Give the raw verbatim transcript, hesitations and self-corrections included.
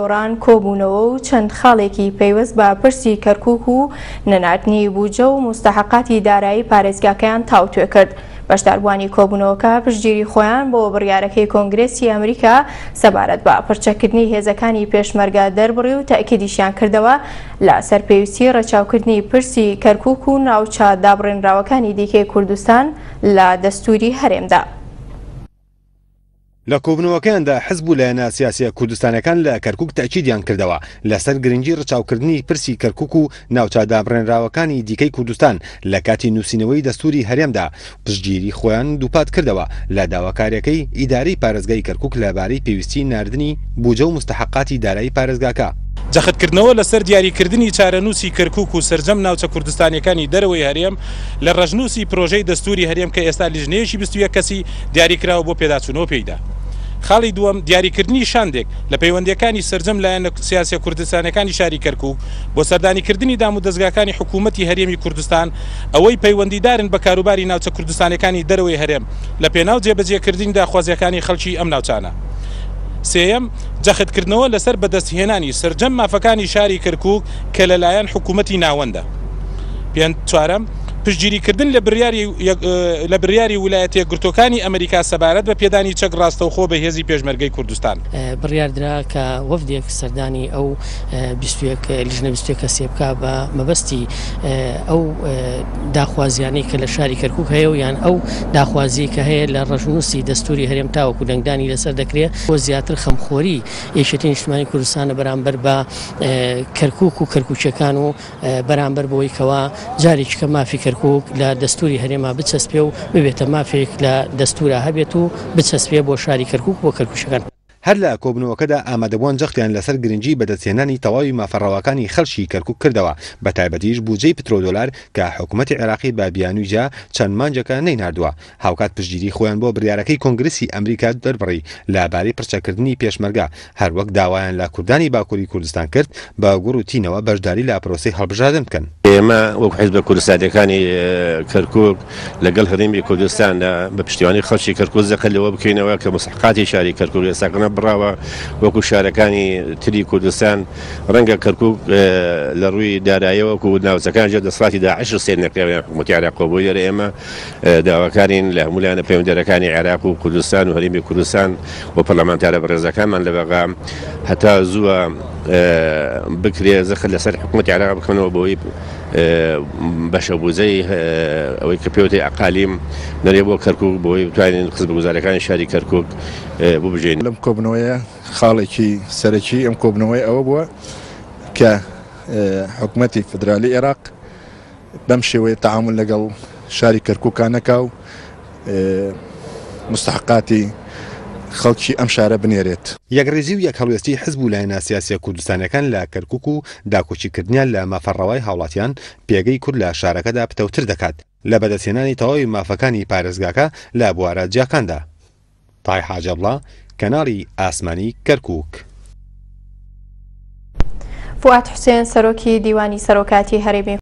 گۆڕان کۆبوونەوە و چەند خاڵێکی پەیوەست بە پرسی کەرکوک و نەناردنی بودجە و موستەحەقاتی دارایی پارێزگاکەیان تاوتوێ کرد. بەشداربووانی کۆبوونەوەکە پشتگیری خۆیان بۆ بڕیارەکەی کۆنگرێسی ئەمریکا سەبارەت بە پرچەکردنی هێزەکانی پێشمەرگە دەربڕی و تەئکیدیشیان کردەوە لەسەر پێویستی ڕەچاوکردنی پرسی کەرکوک و ناوچە دابڕێنراوەکانی دیکەی کوردستان لە دەستوری هەرێمدا. لە کۆبوونەوەکەیاندا حزب و لایەنە سیاسیە کوردستانەکان لە کەرکوک تەئکیدیان کردەوە لەسەر گرنگی ڕچاوکردنی پرسی کەرکوک و ناوچە دابڕێنراوەکانی دیکەی کوردستان لە کاتی نووسینەوەی دەستوری هەرێمدا، پشتگیری خۆیان دووپات کردەوە لە داواکاریەکەی ئیدارەی پارێزگای کەرکوک لەبارەی پێویستی ناردنی بودجە و موستەحەقاتی دارایی پارێزگاکە. جەختکردنەوە لەسەر دیاریکردنی چارەنووسی کەرکوک و سەرجەم ناوچە کوردستانیەکانی دەرەوەی هەرێم لە ڕەشنووسی پرۆژەی دەستوری هەرێم کە ئێستا لیژنەیەکی بیست و یەک کەسی دیاریکراوە بۆ پێداچوونەوە پێیدا. خاڵی دووەم، دیاریکردنی شاندێک لە پەیوەندیەکانی سەرجەم لایەنە سیاسیە کوردستانەکانی شاری کەرکوک بۆ سەردانیکردنی دام و دەزگاکانی حکوومەتی هەرێمی کوردستان ئەوەی پەیوەندیدارن بە کاروباری ناوچە کوردستانەکانی دەرەوەی هەرێم لە پێناو جێبەجێکردنی داخوازیەکانی خەڵکی ئەم ناوچانە. سێیەم، جەختکردنەوە لەسەر بەدەستهێنانی سەرجەم مافەکانی شاری کەرکوک کە لەلایەن حکوومەتی ناوەندە. پێنج چوارەم، پشتگیریکردن لە بڕیاری لە بڕیاری ویلایەتە یەکگرتووەکانی ئەمریکا سەبارەت بە پێدانی چەک ڕاستەوخۆ بە هێزی پێشمەرگەی کوردستان. بڕیاردرا کە وەفدێک سەردانی ئەو بیست و یەک لیژنە بیست و یەک کەسێ بکا بە مەبەستی ئەو داخوازیانەی کە لە شاری کەرکوک هەیە و یان ئەو داخوازی کە هەیە لە ڕەشنووسی دەستوری هەرێم تاوەکو دەنگدانی لەسەر دەکرێت بۆ زیاتر خەمخۆری یەکێتی نیشتمانی کوردستانە بەرامبەر بە کەرکوک و کەرکوکیەکان و بەرامبەر بەوەی کەوا جارێکی کە مافی کەرکوک لە دەستوری هەرێما بچەسپێ و ببێتە مافێک لە دەستورا هەبێت و بچەسپێ بۆ شاری کەرکوک بۆ کەرکوکیەکان. هەر لە کۆبوونەوەکەدا ئامادەبووان جەختیان لەسەر گرنگی بەدەستهێنانی تەواوی مافە ڕەواکانی خەڵکی کەرکوک کردەوە، بە تایبەتیش بودجەی پترۆدۆلار کە حکوومەتی عێراقی بە بیانووی جیا چەند مانگێکە نەیناردووە. هاوکات پشتگیری خۆیان بۆ بڕیارەکەی کۆنگرسی ئەمریکا دەربڕی لەبارەی پرچەکردنی پێشمەرگە، هەروەک داوایان لە کوردانی باکووری کوردستان کرد بە گوڕ و تینەوە بەشداری لە پرۆسەی هەڵبژاردن بکەن. ئێمە وەک حیزبە کوردستانیەکانی کەرکوک لەگەڵ هەرێمی کوردستاندا بە پشتیوانی خەڵکی کەرکوک زەقە لەوە بکەینەوە کە مستحقاتی شاری کەرکوک ئێستاکە بڕاوە وەکو شارەکانی تری کوردستان. ڕەنگە کەرکوک لە ڕووی داراییەوە وەکو ناوچەکان ژێر دەسەڵاتی داعش سێر نەکراوە حکوومەتی عێراقەوە. بۆ لێرە ئێمە داواکارین لە هەموو لایەنە پەیوەندیدارەکانی عێراق و کوردستان و هەرێمی کوردستان و پەرلەمانتارە بەڕێزەکانمان لە بەغا هەتا زووە بکرێ زەخت لەسەر حکوومەتی عێراق بکەنەوە بۆی بەشەبوزەی ئەوەی کە پێوتەی ئەقالیم نەرێ بۆ کەرکوک بۆی بتوانین خزمەتگوزاریەکانی شاری کەرکوک ببژێن. لەم کۆبنەوەیە خاڵێکی سەرەکی ئەم کۆبنەوەی ئەوە بووە کە حکوومەتی فدرالی عێراق بەم شێوەیە تەعامل لەگەڵ شاری کەرکوکا نەکا و مستحقاتی خەڵکی ئەم شارە بنێرێت. یەکڕیزی و یەکهەڵوێستی حزب و لایەنە سیاسیە کوردستانیەکان لە کەرکوک و داکۆکیکردنیان لە مافە ڕەوای هاوڵاتیان پێگەی کورد لە شارەکەدا پتەوتر دەکات لە بەدەستهێنانی تەواوی مافەکانی پارێزگاکە لە بوارە جیاکاندا. تای حاجەبڵا، کەناڵی ئاسمانی کەرکوک. فوئاد حوسێن سەرۆکی دیوانی سەرۆکاتی هەرێمی